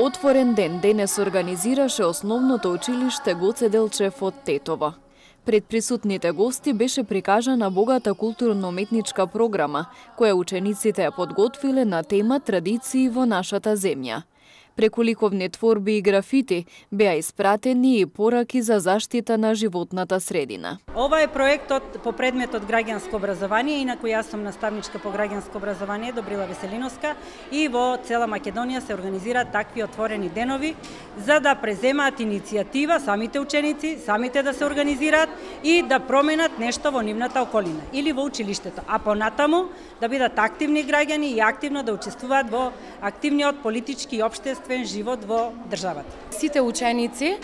Отворен ден денес организираше основното училиште Гоце Делчев од Тетово. Пред присутните гости беше прикажана богата културно-уметничка програма, која учениците ја подготвиле на тема традиции во нашата земја. Преку ликовни творби и графити беа испратени и пораки за заштита на животната средина. Ова е проектот по предметот граѓанско образование, инаку јас сум наставничка по граѓанско образование Добрила Веселиновска и во цела Македонија се организираат такви отворени денови за да преземаат иницијатива самите ученици, самите да се организираат и да променат нешто во нивната околина или во училиштето, а понатаму да бидат активни граѓани и активно да учествуваат во активниот политички и општествен живот во државата. Сите ученици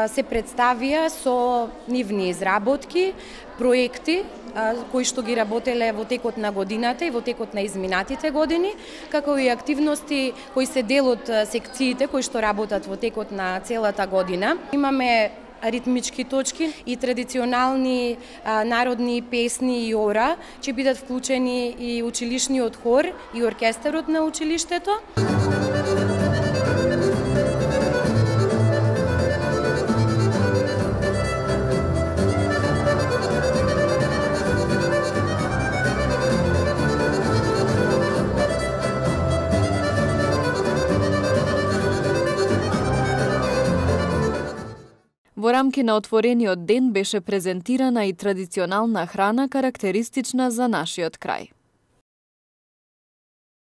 се представија со нивни изработки, проекти кои што ги работеле во текот на годината и во текот на изминатите години, како и активности кои се дел од секциите кои што работат во текот на целата година. Имаме ритмички точки и традиционални народни песни и ора, ќе бидат вклучени и училишниот хор и оркестарот на училиштето. Во рамки на отворениот ден беше презентирана и традиционална храна карактеристична за нашиот крај.